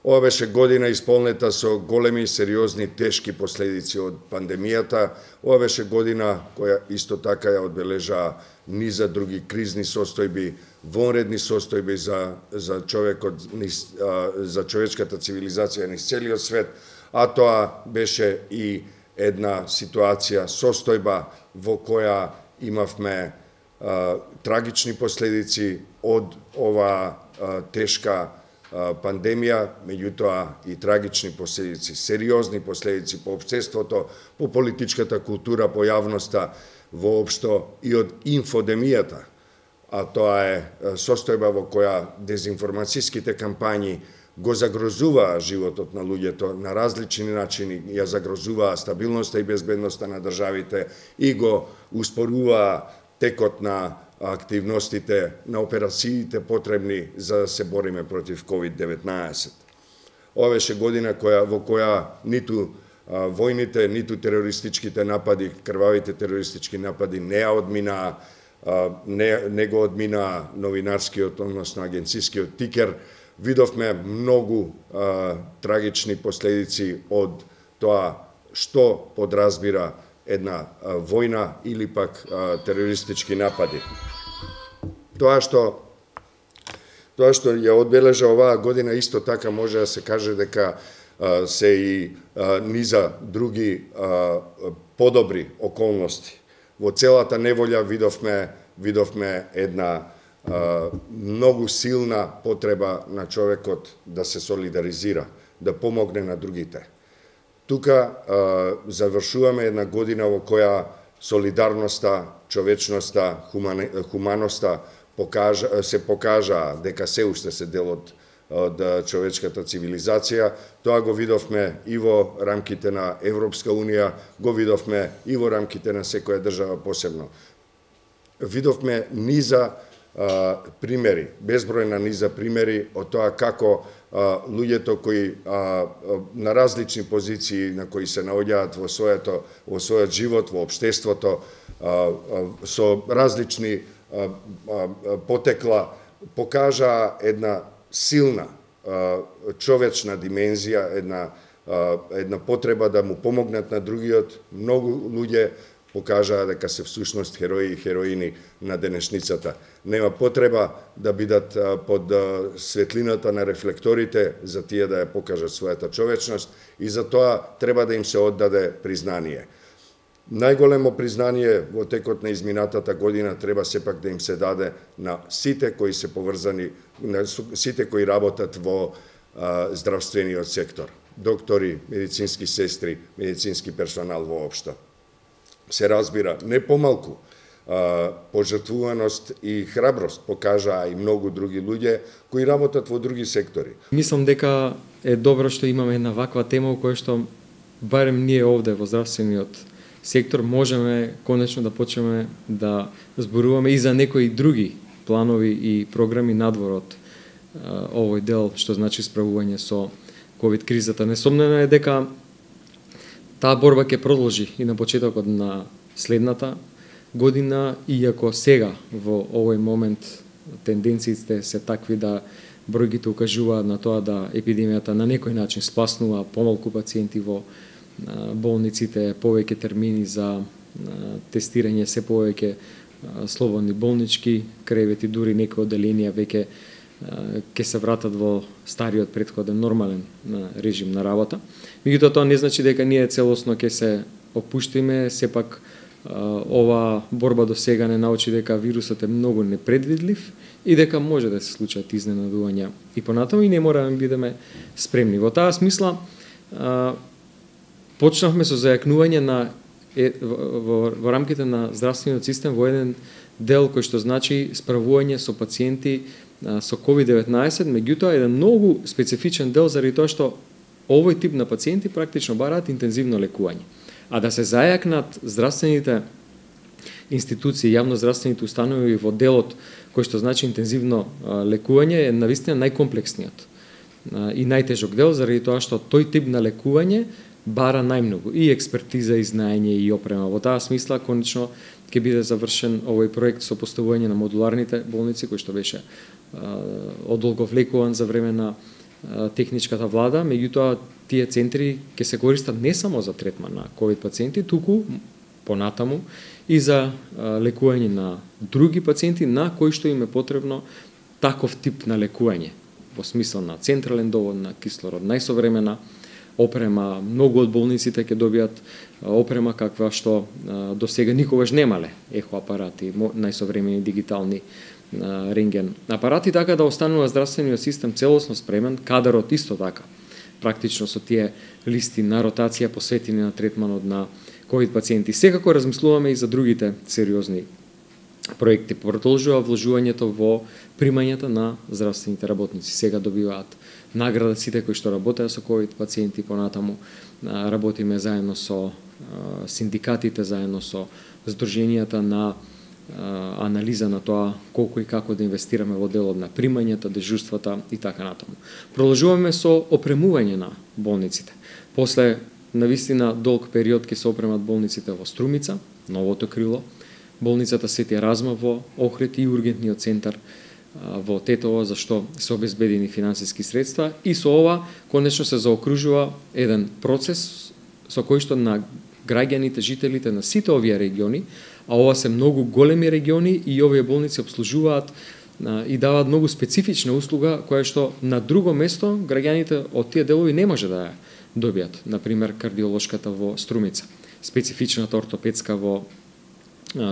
Ова беше година исполнета со големи, сериозни, тешки последици од пандемијата. Ова беше година која исто така ја одбележа низа други кризни состојби, вонредни состојби за човекот, за човечката цивилизација низ целиот свет, а тоа беше и една ситуација, состојба во која имавме трагични последици од ова тешка пандемија, меѓутоа и трагични последици, сериозни последици по општеството, по политичката култура, по јавноста, воопшто и од инфодемијата, а тоа е состојба во која дезинформацијските кампањи го загрозуваа животот на луѓето на различни начини, ја загрозуваа стабилноста и безбедноста на државите и го успоруваа текот на активностите, на операциите потребни за да се бориме против COVID-19. Ова беше година во која ниту војните, ниту терористичките напади, крвавите терористички напади не ја одминаа, не го одминаа новинарскиот, односно агенцискиот тикер. Видовме многу трагични последици од тоа што подразбира една војна или пак терористички напади. Тоа што ја одбележа оваа година исто така може да се каже дека се и низа други подобри околности. Во целата неволја видовме една многу силна потреба на човекот да се солидаризира, да помогне на другите. Тука завршуваме една година во која солидарноста, човечноста, хуманоста се покажа дека се уште се дел од човечката цивилизација. Тоа го видовме и во рамките на Европска Унија, го видовме и во рамките на секоја држава посебно. Видовме низа примери, безбројна низа примери од тоа како луѓето кои на различни позиции на кои се наоѓаат во својот живот, во општеството, со различни потекла, покажаа една силна човечна димензија, една потреба да му помогнат на другиот. Многу луѓе покажаа дека се всушност херои и хероини на денешницата. Нема потреба да бидат под светлината на рефлекторите за тие да ја покажат својата човечност и за тоа треба да им се оддаде признание. Најголемо признание во текот на изминатата година треба сепак да им се даде на сите кои се поврзани, на сите кои работат во здравствениот сектор. Доктори, медицински сестри, медицински персонал воопшто. Се разбира, не помалку пожртвуваност и храброст покажаа и многу други луѓе кои работат во други сектори. Мислам дека е добро што имаме една ваква тема во која што барем ние овде во здравствениот сектор можеме конечно да почнеме да зборуваме и за некои други планови и програми надвор од овој дел што значи справување со ковид кризата. Несомнено е дека таа борба ќе продолжи и на почетокот на следната година, иако сега во овој момент тенденциите се такви да бројките укажуваат на тоа да епидемијата на некој начин спласнува помалку пациенти во болниците, повеќе термини за тестирање, се повеќе слободни болнички кревети, дури некои одделенија веќе ќе се вратат во стариот претходен нормален режим на работа. Меѓутоа тоа не значи дека ние целосно ќе се опуштиме, сепак ова борба до сега не научи дека вирусот е многу непредвидлив и дека може да се случат изненадувања и понатаму и не мораме да бидеме спремни. Во таа смисла почнавме со зајакнување во рамките на здравствениот систем во еден дел кој што значи справување со пациенти со COVID-19, меѓутоа еден многу специфичен дел заради тоа што овој тип на пациенти практично бараат интензивно лекување. А да се зајакнат здравствените институции, јавноздравствените установи во делот кој што значи интензивно лекување е навистина најкомплексниот и најтежок дел заради тоа што тој тип на лекување бара најмногу и експертиза, и знаење и опрема. Во таа смисла конечно ќе биде завршен овој проект со поставување на модуларните болници кој што беше одолговлекуван за време на техничката влада, меѓутоа тие центри ќе се користат не само за третман на ковид пациенти, туку понатаму и за лекување на други пациенти на кои што им е потребно таков тип на лекување, во смисла на централен довод на кислород, најсовремена опрема. Многу од болниците ќе добијат опрема каква што до сега никогаш немале, ехоапарати, најсовремени дигитални рентген апарати, така да останува здравствениот систем целосно спремен, кадарот исто така, практично со тие листи на ротација посветени на третманот на ковид пациенти. Секако размислуваме и за другите сериозни проекти. Продолжува вложувањето во примањата на здравствените работници. Сега добиваат награда сите кои што работеа со ковид пациенти, понатаму работиме заедно со синдикатите, заедно со здруженијата на анализа на тоа колку и како да инвестираме во делот на примањата, дежурствата и така натаму. Продолжуваме со опремување на болниците. После навистина долг период ќе се опремат болниците во Струмица, новото крило, болницата Свети Разма во Охрид и ургентниот центар во Тетово, за што се обезбедени финансиски средства, и со ова конечно се заокружува еден процес со кој што на граѓаните, жителите на сите овие региони, а ова се многу големи региони и овие болници обслужуваат и даваат многу специфична услуга која што на друго место граѓаните од тие делови не може да ја добијат. Например, кардиолошката во Струмица, специфичната ортопедска во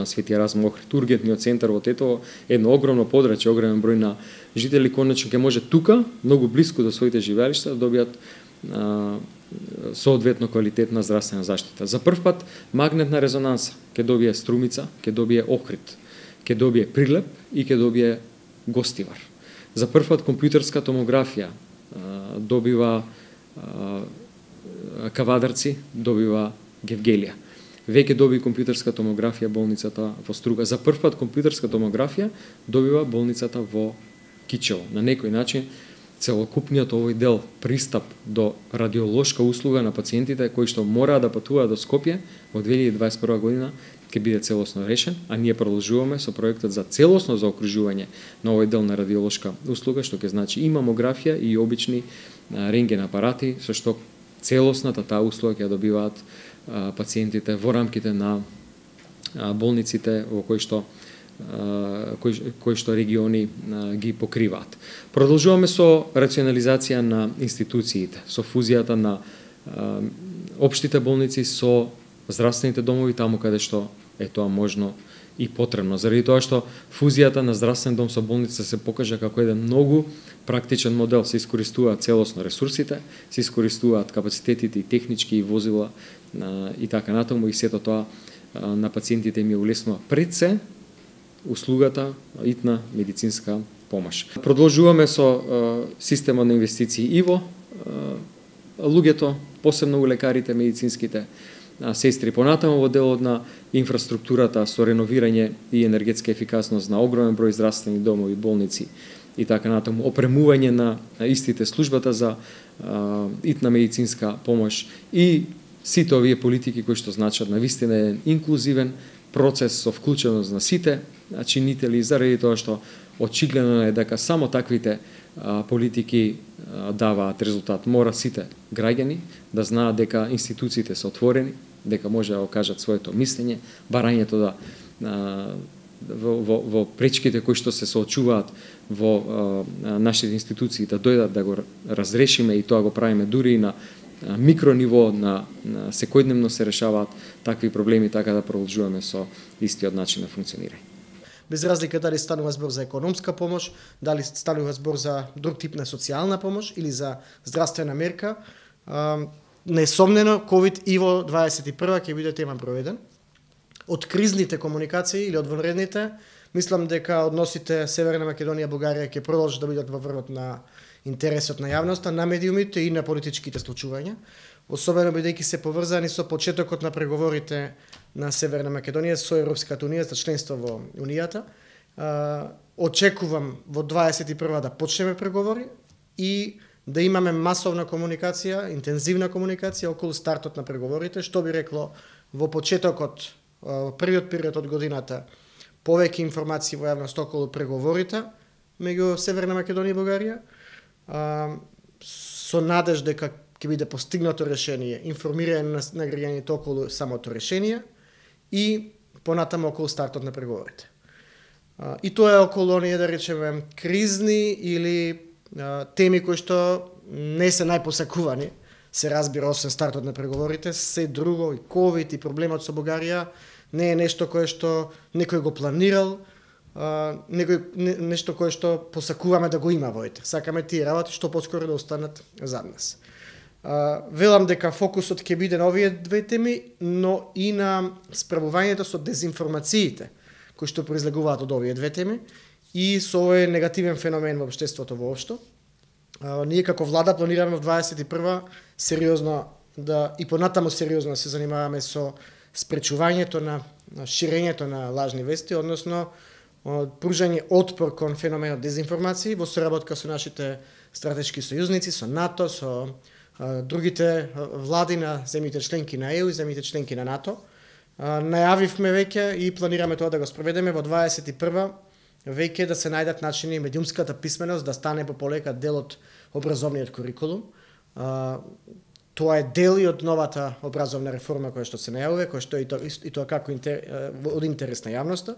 Свети Разма, Охрид, ургентниот центар во Тетово, едно огромно подрачје, огромен број на жители конечно ќе може тука, многу блиску до своите живеалишта, да добијат соодветно квалитетна здравствена заштита. За прв пат магнетна резонанса ќе добие Струмица, ќе добие Охрид, ќе добие Прилеп и ќе добие Гостивар. За прв пат компјутерска томографија добива Кавадарци, добива Гевгелија. Веќе доби компјутерска томографија болницата во Струга. За прв пат компјутерска томографија добива болницата во Кичево. На некој начин целокупниот овој дел пристап до радиолошка услуга на пациентите кои што мора да патуваат до Скопје во 2021 година ќе биде целосно решен, а ние продолжуваме со проектот за целосно заокружување на овој дел на радиолошка услуга, што ќе значи и мамографија и обични рентген апарати, со што целосната таа услуга ќе добиваат пациентите во рамките на болниците во кои што региони ги покриваат. Продолжуваме со рационализација на институциите, со фузијата на општите болници со здравствените домови таму каде што е тоа можно и потребно. Заради тоа што фузијата на здравствен дом со болница се покажа како еден многу практичен модел. Се искористуваат целосно ресурсите, се искористуваат капацитетите и технички и возила и така натаму, и сето тоа на пациентите им ја улеснува пред се услугата итна медицинска помош. Продолжуваме со системот на инвестиции и во луѓето, посебно у лекарите, медицинските сестри, понатаму во делот на инфраструктурата со реновирање и енергетска ефикасност на огромен број здравствени домови, болници и така натаму, опремување на истите, службата за итна медицинска помош и сите овие политики кои што значат навистина еден инклузивен процес со вклученост на сите чинители, заради тоа што очигледно е дека само таквите политики даваат резултат. Мора сите граѓани да знаат дека институциите се отворени, дека може да окажат своето мислење, барањето да во пречките кои што се соочуваат во нашите институции да дојдат да го разрешиме, и тоа го правиме дури и на микрониво, на секојдневно се решаваат такви проблеми, така да продолжуваме со истиот начин на функционирање. Без разлика дали станува збор за економска помош, дали станува збор за друг тип на социјална помош или за здравствена мерка, несомнено COVID и во 21 ќе биде тема проведен. Од кризните комуникации или од вонредните, мислам дека односите Северна Македонија Бугарија ќе продолжат да бидат во врвот на интересот на јавноста, на медиумите и на политичките случувања, особено бидејќи се поврзани со почетокот на преговорите на Северна Македонија со Европската унија за членство во Унијата. Очекувам во 21 да почнеме преговори и да имаме масовна комуникација, интензивна комуникација околу стартот на преговорите, што би рекло во почетокот, првиот период од годината, повеќе информации во јавност околу преговорите меѓу Северна Македонија и Бугарија. со надеж дека ќе биде постигнато решение, информирање на граѓаните околу самото решение и понатаму околу стартот на преговорите. И тоа е околу оние, да речеме, кризни или теми кои што не се најпосакувани, се разбира, освен стартот на преговорите, се друго, и ковид, и проблемот со Бугарија, не е нешто кое што некој го планирал, нешто кое што посакуваме да го има во ете. Сакаме тие работи што поскоро да останат зад нас. Велам дека фокусот ќе биде на овие две теми, но и на справувањето со дезинформациите, кои што произлегуваат од овие две теми, и со овој негативен феномен во општеството воопшто. Ние како влада планираме во 21 сериозно и понатаму сериозно се занимаваме со спречувањето на ширењето на лажни вести, односно пружање отпор кон феноменот дезинформации во соработка со нашите стратешки сојузници, со НАТО, со другите влади на земјите членки на ЕУ и земјите членки на НАТО. Најавивме веќе и планираме тоа да го спроведеме во 21 веќе да се најдат начини медиумската писменост да стане пополека дел од образовниот курикулум. Тоа е дел и од новата образовна реформа која што се најавува, која што и тоа како од интерес на јавноста.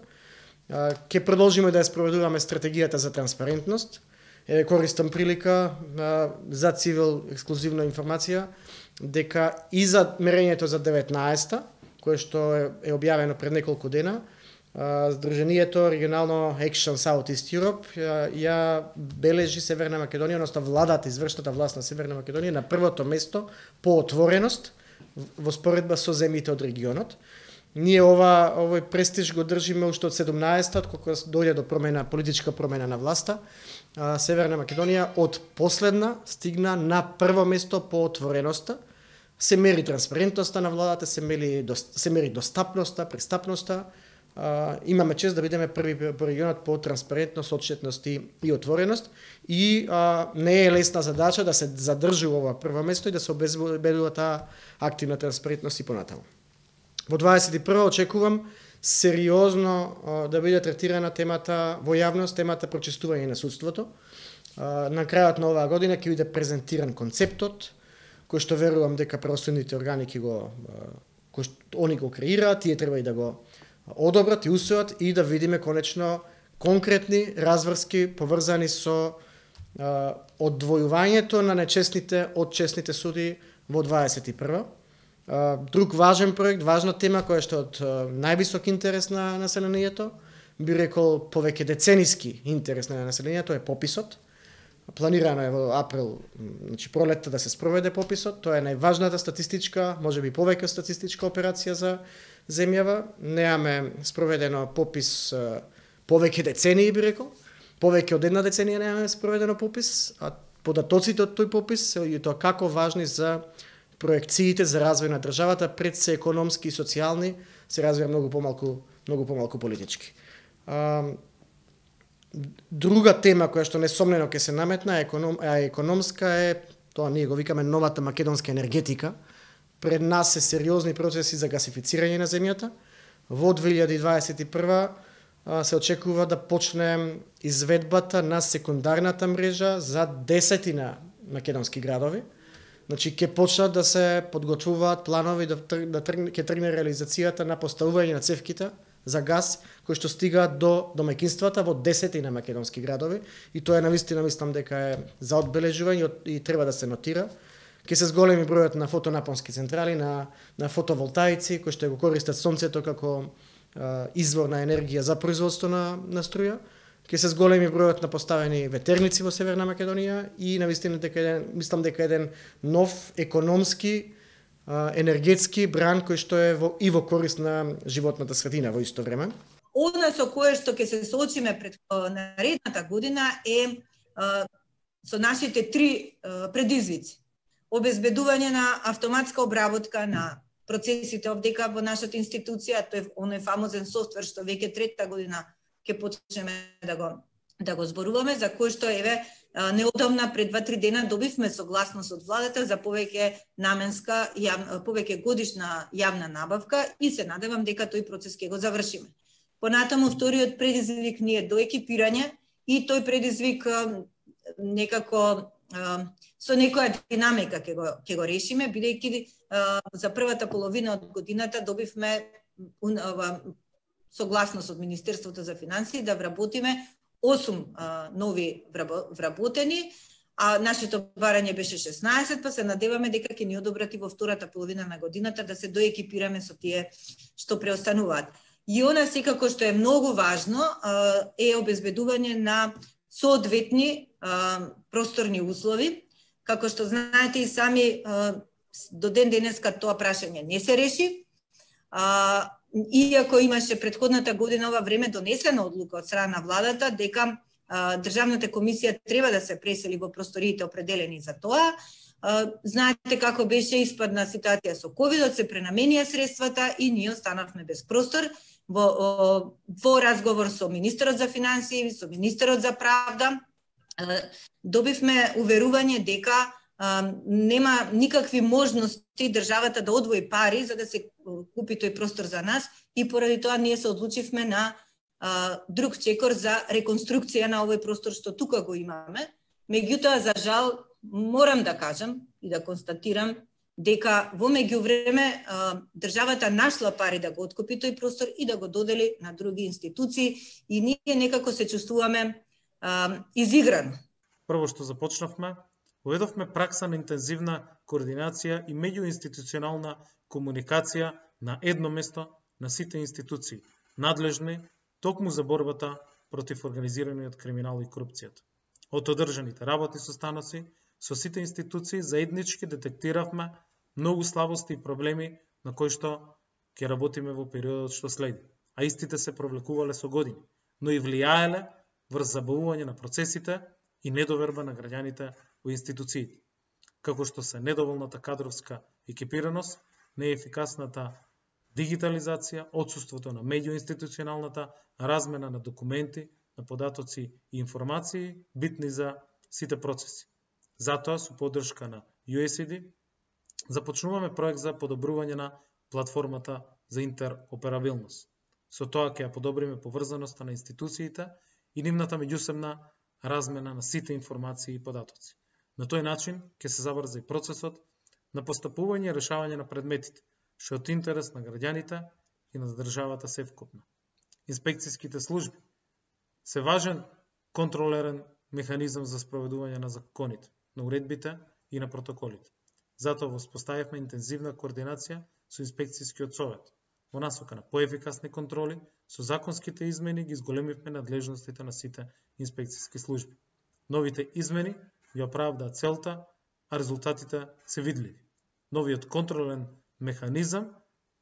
Ќе продолжиме да ја спроведуваме стратегијата за транспарентност. Користам прилика за Цивил ексклузивна информација дека и за мерењето за 19-та, кое што е објавено пред неколку дена, Сдруженијето регионално Action South East Europe ја бележи Северна Македонија, односно владата, извршната власт на Северна Македонија на првото место по отвореност во споредба со земјите од регионот. Ние овој престиж го држиме уште од 17-та, кога дојде до политичка промена на власта. Северна Македонија од последна стигна на прво место по отвореноста. Се мери транспарентноста на владата, се мери достапноста, престапноста. Имаме чест да бидеме први по регионот по транспарентност, отчетност и отвореност. И не е лесна задача да се задржи ова прво место и да се обезбедува таа активна транспарентност и понатаму. Во 21 очекувам сериозно да биде третирана темата во јавност, темата прочистување на судството. На крајот на оваа година ќе биде презентиран концептот, кој што верувам дека правосудните органи они го креираат, тие треба и да го одобрат и усвојат и да видиме конечно конкретни разврски поврзани со одвојувањето на нечестните од честните суди во 21. Друг важен проект, важна тема која што од највисок интерес на населението, би рекол повеќе децениски интерес на населението е пописот. Планирано е во април, значи пролетта да се спроведе пописот. Тоа е најважната статистичка, можеби повеќе статистичка операција за земјава. Немаме спроведено попис повеќе децении, би рекол. Повеќе од една деценија немаме спроведено попис, а податоците од тој попис се и тоа како важни за проекциите за развој на државата, пред се економски и социјални, се развива многу помалку политички. Друга тема која што несомнено ќе се наметна економска е, тоа ние го викаме новата македонска енергетика. Пред нас се сериозни процеси за гасифицирање на земјата. Во 2021 се очекува да почне изведбата на секундарната мрежа за 10 македонски градови. Значи, ќе почнат да се подготвуваат планови ќе тргне реализацијата на поставување на цевките за газ, кои што стигаат до домаќинствата во 10 македонски градови. И тоа е навистина, мислам дека е за одбележување и треба да се нотира. Ќе се зголеми бројот на фотонапонски централи, на фотоволтаици, кои што го користат сонцето како извор на енергија за производство на струја. Ќе се зголеми бројот на поставени ветерници во Северна Македонија и навистина мислам дека еден нов економски, енергетски бран кој што е и во корист на животната средина во исто време. Она со кое што ќе се соочиме пред наредната година е со нашите три предизвици. Обезбедување на автоматска обработка на процесите овдека во нашата институција, тој е оној фамозен софтвер што веќе трета година ќе почнеме да го зборуваме, за кој што еве неодамна пред 2-3 дена добивме согласност од владата за повеќе наменска повеќе годишна јавна набавка и се надевам дека тој процес ќе го завршиме. Понатаму вториот предизвик ни е до екипирање и тој предизвик некако со некоја динамика ќе го решиме, бидејќи за првата половина од годината добивме согласност од Министерството за финансии да вработиме 8 нови вработени, а нашето барање беше 16, па се надеваме дека ќе ни одобрат и во втората половина на годината да се доекипираме со тие што преостануваат. И она секако што е многу важно е обезбедување на соодветни просторни услови. Како што знаете и сами, до ден денеска тоа прашање не се реши. Иако имаше претходната година ова време донесена одлука од страна на владата дека Државната комисија треба да се пресели во просториите определени за тоа. Знаете како беше испадна ситуација со ковидот, се пренаменија средствата и ние останавме без простор. Во разговор со министерот за финансии, со министерот за правда, добивме уверување дека нема никакви можности државата да одвои пари за да се купи тој простор за нас и поради тоа ние се одлучивме на друг чекор за реконструкција на овој простор што тука го имаме. Меѓутоа, за жал, морам да кажам и да констатирам дека во меѓувреме државата нашла пари да го откупи тој простор и да го додели на други институции и ние некако се чувствуваме изиграно. Прво што започнавме, уведовме пракса на интензивна координација и меѓуинституционална комуникација на едно место на сите институции, надлежни токму за борбата против организираниот криминал и корупцијата. Од одржаните работни состаноци со сите институции заеднички детектиравме многу слабости и проблеми на кои што ќе работиме во периодот што следи, а истите се провлекувале со години, но и влијаеле врз забавување на процесите и недоверба на граѓаните во институциите, како што се недоволната кадровска екипираност, неефикасната дигитализација, отсуството на меѓуинституционалната размена на документи, на податоци и информации, битни за сите процеси. Затоа, со поддршка на USAID, започнуваме проект за подобрување на платформата за интероперабилност. Со тоа ќе ја подобриме поврзаноста на институциите и нивната меѓусебна размена на сите информации и податоци. На тој начин ќе се забрза и процесот на постапување и решавање на предметите, што е од интерес на граѓаните и на државата севкупна. Инспекцијските служби се важен контролерен механизам за спроведување на законите, на уредбите и на протоколите. Затоа воспоставивме интензивна координација со инспекцијскиот совет. Во насока на поефикасни контроли, со законските измени ги изголемивме надлежностите на сите инспекцијски служби. Новите измени ја оправдаат целта, а резултатите се видливи. Новиот контролен механизам,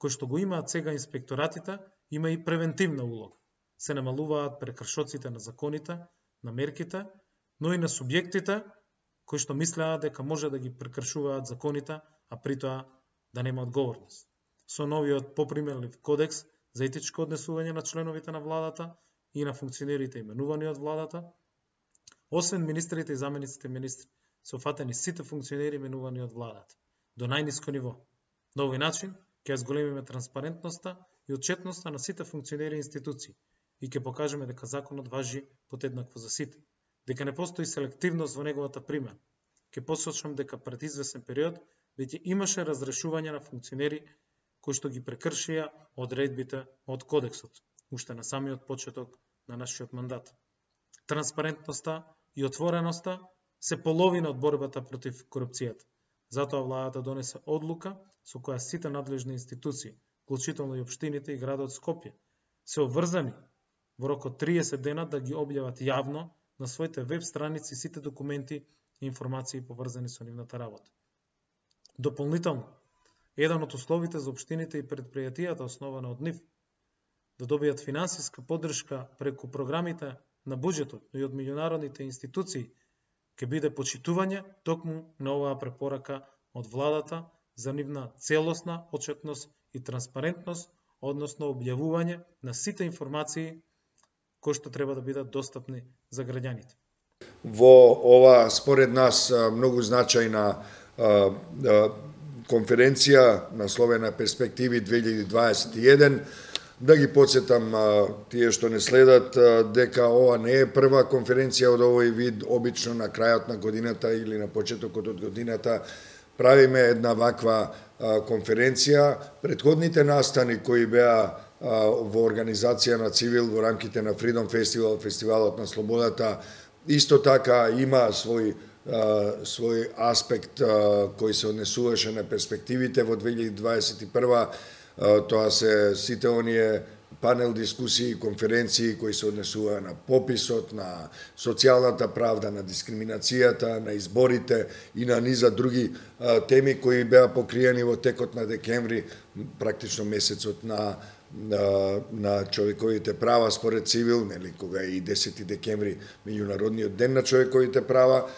кој што го имаат сега инспекторатите, има и превентивна улога. Се намалуваат прекршоците на законите, на мерките, но и на субјектите кои што мислеа дека може да ги прекршуваат законите, а при тоа да нема одговорност. Со новиот попримерлив кодекс за етичко однесување на членовите на владата и на функционерите именувани од владата, освен министрите и замениците министри, се фатени сите функционери именувани од владата, до најниско ниво. На овој начин ќе зголемиме транспарентноста и отчетноста на сите функционери и институции и ќе покажеме дека законот важи подеднакво за сите, дека не постои селективност во неговата примена. Ќе посочам дека пред извесен период веќе имаше разрешување на функционери кои што ги прекршија одредбите од кодексот, уште на самиот почеток на нашиот мандат. Транспарентноста и отвореноста се половина од борбата против корупцијата. Затоа владата донесе одлука со која сите надлежни институции, вклучително и општините и градот Скопје, се обврзани во рок од 30 дена да ги објават јавно на своите веб страници сите документи и информации поврзани со нивната работа. Дополнително, еден од условите за општините и предпријатијата основана од нив да добијат финансиска поддршка преку програмите на буџетот и од меѓународните институции ќе биде почитување токму на оваа препорака од владата за нивна целосна отчетност и транспарентност, односно објавување на сите информации кои што треба да бидат достапни за граѓаните. Во ова, според нас, многу значајна конференција насловена Перспективи 2021, Да ги подсетам тие што не следат дека ова не е прва конференција од овој вид. Обично на крајот на годината или на почетокот од годината правиме една ваква конференција. Предходните настани кои беа во организација на Цивил во рамките на Freedom Festival, фестивалот на слободата, исто така има свој аспект кој се однесуваше на перспективите во 2021. Тоа се сите оние панел дискусии, конференции кои се однесува на пописот, на социјалната правда, на дискриминацијата, на изборите и на низа други теми кои беа покриени во текот на декември, практично месецот на човековите права според Цивил, нели, кога е и 10 декември меѓународниот ден на човековите права.